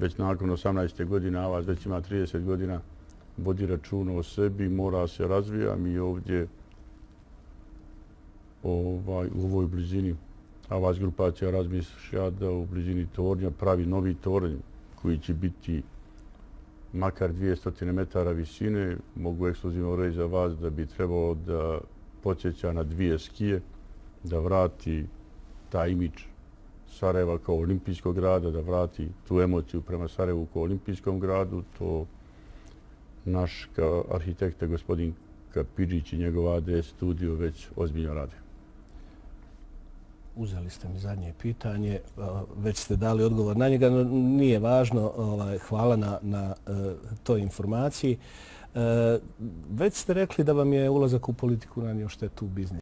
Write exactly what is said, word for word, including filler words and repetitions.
već nakon osamnaeste godine, a vas već ima trideset godina, vodi računa o sebi, mora se razvija. Mi ovdje ovaj, u ovoj blizini, a vas grupacija razmišlja da u blizini tornja pravi novi tornj koji će biti makar dvjesto metara visine. Mogu ekskluzivno reći za vas da bi trebalo da podsjeća na dvije skije, da vrati taj imidž Sarajeva kao olimpijskog grada, da vrati tu emociju prema Sarajevu kao olimpijskom gradu. To naš arhitekta gospodin Kapidžić i njegov A D studio već ozbiljno rade. Uzeli ste mi zadnje pitanje, već ste dali odgovor na njega, no nije važno. Hvala na, na toj informaciji. Već ste rekli da vam je ulazak u politiku nanio štetu u biznisu.